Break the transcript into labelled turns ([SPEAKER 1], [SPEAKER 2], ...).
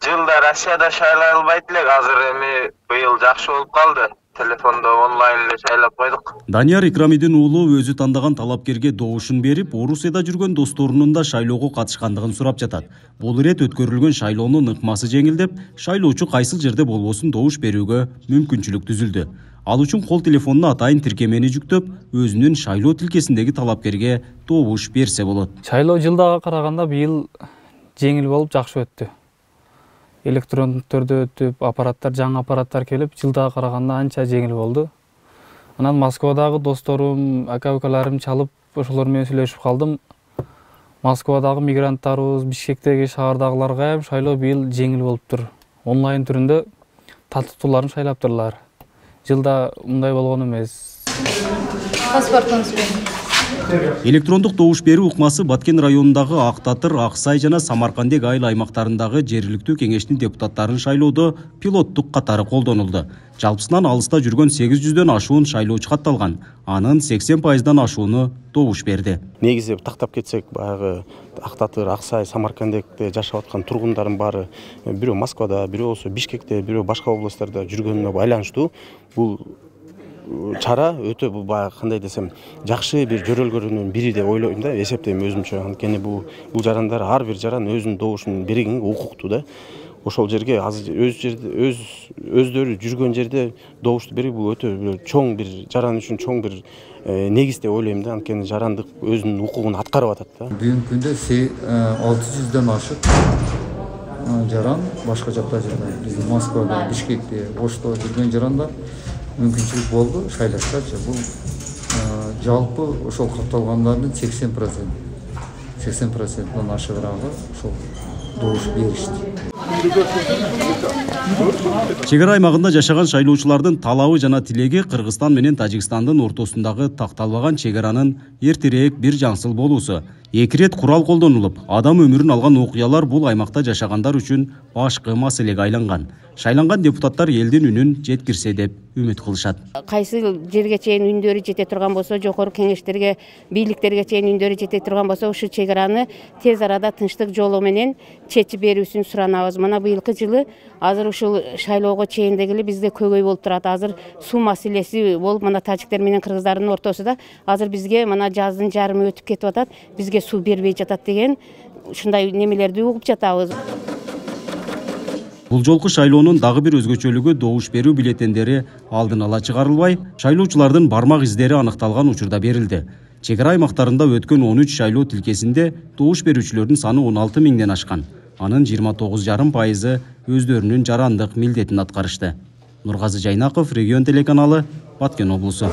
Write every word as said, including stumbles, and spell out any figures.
[SPEAKER 1] Жылда Россияда шайлай албайт элек, азыр эми быйыл жакшы болуп калды. Телефондо онлайн эле шайлап койдук.
[SPEAKER 2] Данияр Икрамидин уулу өзү тандаган талапкерге добушун берип, Орусияда жүргөн досторунун да шайлоого катышкандыгын сурап жатат. Бул ирет өткөрүлгөн шайлоонун ыкмасы жеңилдеп, шайлоочу кайсыл жерде болбосун добуш берүүгө мүмкүнчүлүк түзүлдү. Ал үчүн кол телефонуна атайын тиркемени жүктөп, өзүнүн шайлоо тилкесиндеги талапкерге добуш берсе болот.
[SPEAKER 3] Шайлоо жылдага караганда быйыл жеңил болуп, жакшы өттү. Электрондук түрдө өтүп, аппараттар, жаңы аппараттар келип, жылдага караганда анча жеңил болду. Анан Москвадагы досторум, ака-укаларым чалып, ошолор менен сүйлөшүп калдым. Москвадагы мигранттарыбыз, Бишкектеги шаардагыларга эм шайлоо быйыл жеңил болуптур. Онлайн түрүндө таттыктууларын шайлаптырлар. Жылда мындай болгон эмес.
[SPEAKER 4] Паспортуңуз менен.
[SPEAKER 2] Электрондук добуш берүү ыкмасы Баткен районундагы Ак Татыр, Ак Сай жана Самаркандек айыл аймактарындагы жергиликтүү кеңештин депутаттарын шайлоодо пилоттук катары колдонулду. Жалпысынан алыста жүргөн сегиз жүздөн ашуун шайлоочу катталган. Анын сексен пайыздан ашууну добуш берди.
[SPEAKER 5] Негизи тактап кетсек, баягы Ак Татыр, Ак Сай, Самаркандекте жашап аткан тургундардын баары бирөө Москвада, бирөө болсо Бишкекте, бирөө башка областтарда жүргөнүнө байланыштуу. Бул чара өтө бул баягы кандай десем, жакшы бир жөрөлгөрүнүн бири деп ойлойм да, эсептейм өзүмчө. Анткени бул бул жарандар ар бир жаран өзүнүн добушун бергенге укуктуу да. Ошол жерге азыр өз жерде өз өздөрү жүргөн жерде добушту берүү бул өтө чоң бир жаран үчүн чоң бир негиз деп ойлойм да. Анткени жарандык өзүнүн укугун аткарып атат да.
[SPEAKER 6] Бүгүнкү күндө алты жүздөн ашык жаран башка жакта жүргөн. Биздин Москвада, Бишкекте, Ошто жүргөн жарандар мүмкүнчүлүк болду шайлашкачы. Бул жалпы ошол катталгандардын сексен процент сексен проценттен ашыгыраагы ошол добуш беришти.
[SPEAKER 2] Чек ара аймагында жашаган шайлоочулардын талабы жана тилеги Кыргызстан менен Тажикстандын ортосундагы такталбаган чек аранын эртерээк бир жаңсыл болуусу. Эки рет курал колдонулуп, адам өмүрүн алган окуялар бул аймакта жашагандар үчүн башкы маселеге айланган. Шайланган депутаттар элдин үнүн жеткирсе деп үмүт кылышат.
[SPEAKER 7] Кайсы жерге чейин үндөрү жете турган болсо, жогору кеңештерге, бийликтерге чейин үндөрү жете турган болсо, ушул чек араны тез арада тынчтык жолу менен чечип берүүсүн суранабыз. Мына быйылкы жылы азыр ушул шайлоого чейин дегеле бизде көйгөй болуп турат. Азыр суу маселеси болуп, мына тажиктер менен кыргыздардын ортосунда азыр бизге мына жаздын жарымы өтүп кетип атат. Бизге суу бербей жатат деген ушундай немелерди угуп жатабыз.
[SPEAKER 2] Бул жолку шайлоонун дагы бир өзгөчөлүгү добуш берүү бюллетендери алдын ала чыгарылбай, шайлоочулардын бармак издери аныкталган учурда берилди. Чек ара аймактарында өткөн он үч шайлоо тилкесинде добуш берүүчүлөрдүн саны он алты миңден ашкан. Анын жыйырма тогуз жарым пайызы өздөрүнүн жарандык милдетин аткарышты. Нургазы Жайнаков, Регион телеканалы, Баткен облусу.